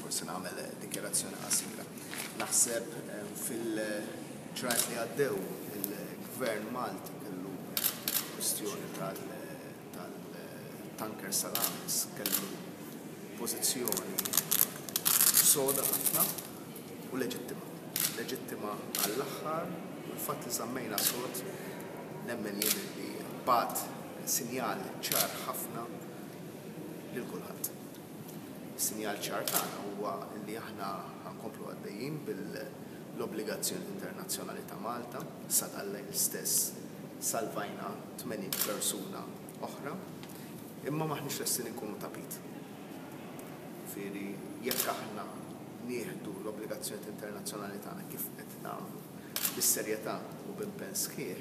Forsi nagħmel dikjarazzjoni qasira. Naħseb fil-ġranet li għaddew il-Gvern Malti kellu kwistjoni tal-tanker Salamis kellu pożizzjoni soda ħafna u leġittima. Leġittima għall-aħħar u l-fatt li żammejna sod nemmen jien li bagħat sinjal ċar ħafna lil kulħadd. Is-sinjal ċar tagħna huwa li aħna ħa nkomplu għaddejjin bil-obbligazzjonijiet internazzjonali ta' Malta, sa dal-lejl stess salvajna 80 persuna oħra, imma m'aħniex lesti li nkunu tapit. Jiġifieri jekk aħna nieħdu l-obbligazzjonijiet internazzjonali tagħna kif qed nagħmlu, bis-serjetà u b'impenn sħiħ,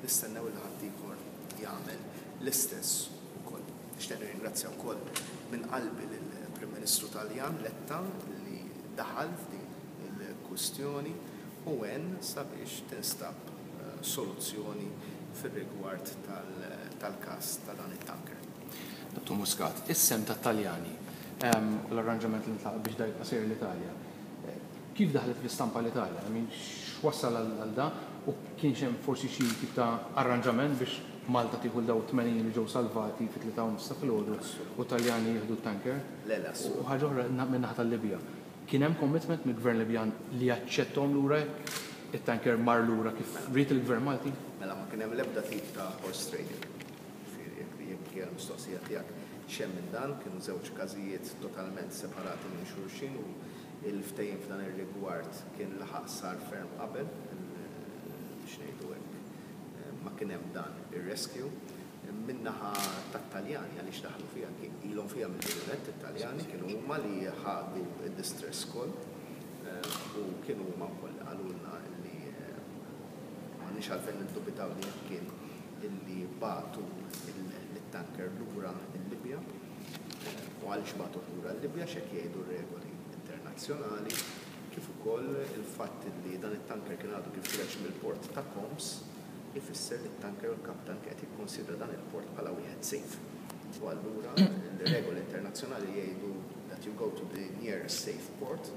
nistennew li ħaddieħor jagħmel l-istess ukoll. Nixtieq nirringrazzja wkoll minn qalbi lill-Prim Ministru Taljan Letta li daħal f'din il-kwistjoni u għen sabiex tinstab soluzzjoni fir-rigward tal-każ ta' dan it-tanker. Dottor Muscat, is-sehem tat-Taljani u l-arranġament li ntlaqa' biex da jibqa' sejjer l-Italja, kif daħlet fl-istampa l-Italja? I mean, x'wassal għal da u kienx hemm forsi xi tip ta' arranġament biex Malta tieħu 'l dawn it-80 li ġew salvati fit-tlieta u nofs ta' filgħodu u t-Taljani jieħdu t-tanker? Le, le, U ħaġa oħra min-naħa tal-Libja. Kien hemm commitment mill-Gvern Libjan li jaċċettahom lura jekk it-tanker mar lura kif ried il-Gvern Malti? Mela ma kien hemm l-ebda tip ta' horse trading. Jiġifieri jekk jekk hija l-mistoqsija tiegħek x'hemm minn dan, kienu żewġ każijiet totalment separati minn xulxin u l-ftehim f'dan ir-rigward kien laħaq sar ferm qabel, biex ngħidu hekk. ma kien hemm dan ir-rescue. Min-naħa tat-Taljani għaliex daħlu fiha, ilhom fiha mill-bidu nett it-Taljani, kienu huma li ħadu d-distress call u kienu huma wkoll li qalulna li m'għandniex għalfejn niddubitaw li hekk kien illi bagħtu lit-tanker lura l-Libja. U għaliex bagħtuh lura l-Libja? Għax hekk jgħidu r-regoli internazzjonali. kif ukoll il-fatt li dan it-tanker kien għadu kif ħireġ mill-port ta' Khoms ifisser li t-tanker u l-kaptan kien qed jikkunsidra dan il-port bħala wieħed safe. U allura l-regoli internazzjonali jgħidu that you go to the nearest safe port,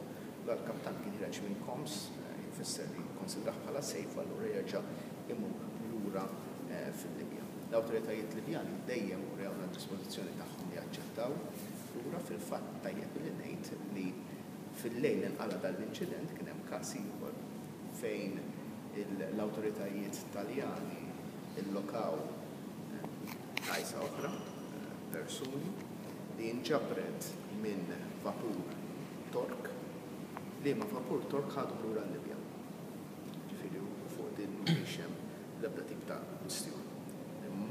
la l-kaptan kien ħireġ minn Khoms jfisser li jikkonsidrah bħala safe u allura jerġa' imur lura fil-Libja. L-awtoritajiet Libjani dejjem urewna d-dispożizzjoni tagħhom li jaċċettaw lura, fil-fatt tajjeb li ngħid li Fil-lejl li nqala' dan l-inċident kien hemm każ ieħor fejn l-awtoritajiet Taljani llokaw dgħajsa oħra b'persuni li nġabret minn vapur Tork, liema vapur Tork ħadhom lura l-Libja. Jiġifieri fuq din mhix hemm l-ebda tip ta' kwistjoni.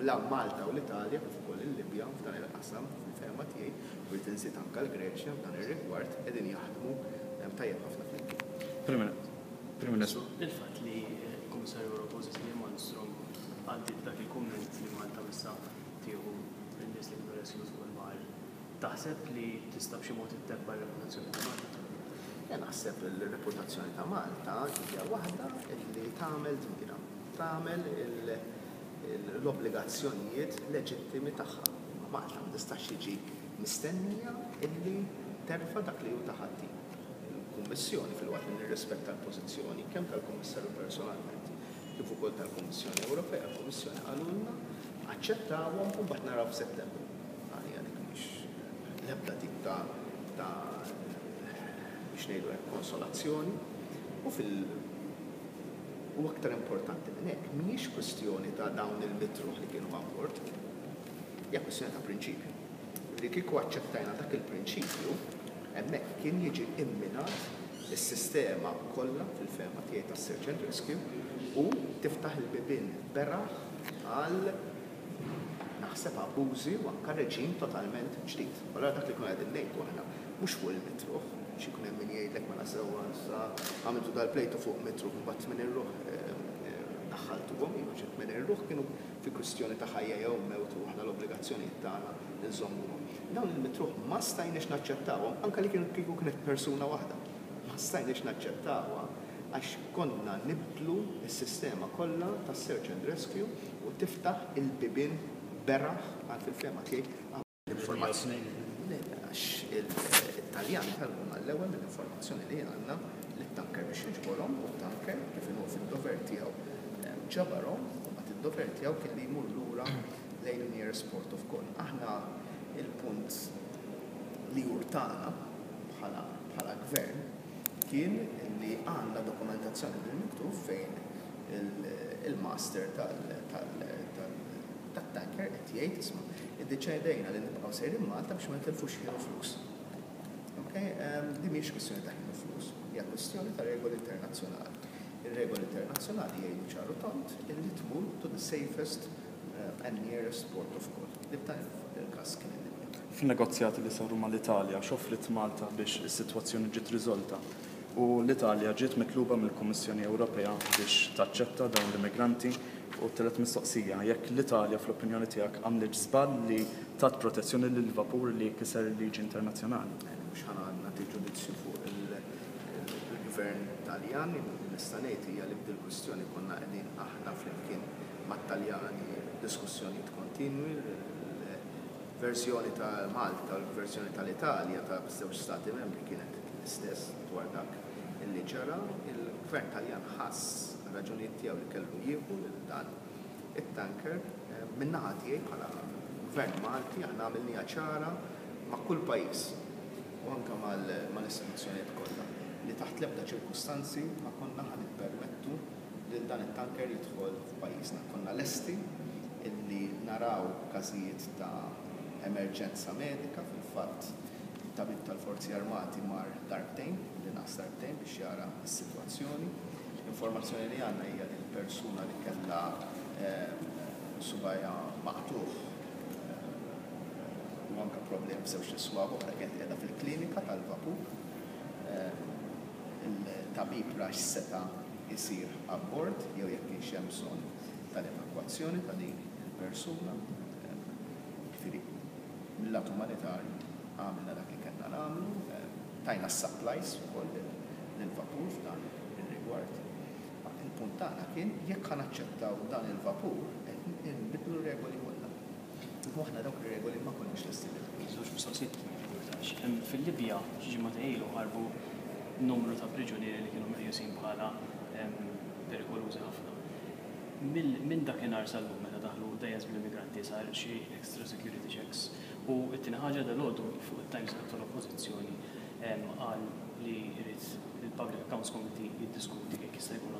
La Malta u l-Italja kif ukoll il-Libja f'dan il-qasam, fil-fehma tiegħi, u rrid inżid anke l-Greċja f'dan ir-rigward, qegħdin jaħdmu tajjeb ħafna flimkien. Prim Ministru. Il-fatt li l-Kummissarju Ewropew Cecilia Malmstrom għaddiet dak il-kumment li Malta missha tieħu lin-nies li kienu rescued fuq il-baħar, taħseb li tista' b'xi mod ittebba' r-reputazzjoni ta' Malta? Jien naħseb li r-reputazzjoni ta' Malta hija waħda li tagħmel dmirha. Tagħmel l-obbligazzjonijiet leġittimi tagħha. Imma Malta ma tistax tiġi mistennija illi terfa' dak li hu ta' ħaddieħor. Il-Kummissjoni, filwaqt li nirrispetta l-pożizzjoni kemm tal-Kummissarju personalment kif ukoll tal-Kummissjoni Ewropea, il-Kummissjoni qalulna aċċettawhom u mbagħad naraw f'Settembru. Għalija dik mhix l-ebda tip ta' ta' biex ngħidu hekk konsolazzjoni u fil U aktar importanti minn hekk, mhijiex kwistjoni ta' dawn il-mitruħ li kienu abbord. Hija kwistjoni ta' prinċipju. Li kieku aċċettajna dak il-prinċipju, hemmhekk kien jiġi imminat is-sistema kollha fil-fehma tiegħi tas-search and rescue u tiftaħ il-bibien beraħ għal naħseb abbużi u anke reġim totalment ġdid. Allura dak li konna qegħdin ngħidu aħna mhux fuq il-mitruħ, għax ikun hemm min jgħidlek mela sewwa issa għamiltu dal-plejtu fuq mitruħ imbagħad 80 ruħ daħħaltuhom, iva xi 80 ruħ kienu fi kwistjoni ta' ħajja jew mewt u aħna l-obbligazzjonijiet tagħna nżommuhom. Dawn il-mitruħ ma stajniex naċċettawhom anke li kieku kienet persuna waħda. Ma stajniex naċċettawha għax konna nibdlu s-sistema kollha tas-search and rescue u tiftaħ il-bibien beraħ għal fil-fehma tiegħi L-informazzjoni. Le, għax il-Taljani. It-Taljani talbu mal-ewwel mill-informazzjoni li għandna lit-tanker biex jiġborhom u t-tanker kif inhu fid-dover tiegħu ġabarhom u mbagħad id-dover tiegħu kien li jmur lura lejn in-nearest port of call. Aħna il-punt li urtana bħala bħala gvern kien li għandna dokumentazzjoni bil-miktub fejn il-master tat-tanker qed jgħid isma' iddeċidejna li nibqgħu sejrin Malta biex ma nitilfux ħin u flus. Okay? Din mhijiex kwistjoni ta' ħin u flus, hija kwistjoni ta' regoli internazzjonali. Ir-regoli internazzjonali jgħidu ċar u tond illi tmur to the safest and nearest port of call, li f'dan il-każ kien il-Libja. Fin-negozjati li saru mal-Italja, x'offriet Malta biex is-sitwazzjoni ġiet riżolta? U l-Italja ġiet mitluba mill-Kummissjoni Ewropea biex taċċetta dawn l-immigranti? U t-tielet mistoqsija, jekk l-Italja fl-opinjoni tiegħek għamlitx żball li tat protezzjoni lil vapur li kiser il-liġi internazzjonali? Mhux ħa nagħti ġudizzju fuq il-Gvern Taljan, li nista' ngħid hija li f'dil-kwistjoni konna qegħdin aħna flimkien mat-Taljani f'diskussjonijiet kontinwi. Il-verżjoni ta' Malta u l-verżjoni tal-Italja ta' żewġ stati membri kienet l-istess dwar dak li ġara. Il-Gvern Taljan ħass għar-raġunijiet tiegħu li kellu jieħu lil dan it-tanker. Min-naħa tiegħi bħala Gvern Malti aħna għamilniha ċara ma' kull pajjiż u anke mal-istituzzjonijiet kollha li taħt l-ebda ċirkustanzi ma konna ħa nippermettu lil dan it-tanker jidħol f'pajjiżna. Konna lesti illi naraw każijiet ta' emerġenza medika, fil-fatt it-tabib tal-Forzi Armati mar darbtejn, l-inqas darbtejn biex jara s-sitwazzjoni. L-informazzjoni li għandna hija li l-persuna li kellha subgħajha maqtugħ u anke problemi f'żewġt iswaba oħra kienet qiegħda fil-klinika tal-vapur. Il-tabib ra x'seta' jsir abbord jew jekk kienx hemm bżonn tal-evakwazzjoni ta' din il-persuna. Jiġifieri mil-lat umanitarju għamilna dak li kellna nagħmlu, tajna s-supplies ukoll lill-vapur f'dan ir-rigward. Il-punt tagħna kien jekk ħa naċċettaw dan il-vapur qed inbiddlu r-regoli kollha. U aħna dawk ir-regoli ma konniex lesti li nagħmlu. Żewġ mistoqsijiet ma jimpurtax. Fil-Libja xi ġimgħatejn ilu ħarbu numru ta' priġunieri li kienu meqjusin bħala perikolużi ħafna. Minn dakinhar sal-lum meta daħlu dgħajjes bl-immigranti sar xi extra security checks. U t-tieni ħaġa dalgħodu fuq it-Times il-Kap tal-Oppożizzjoni qal li jrid il-Public Accounts Committee jiddiskuti jekk jista' jkun.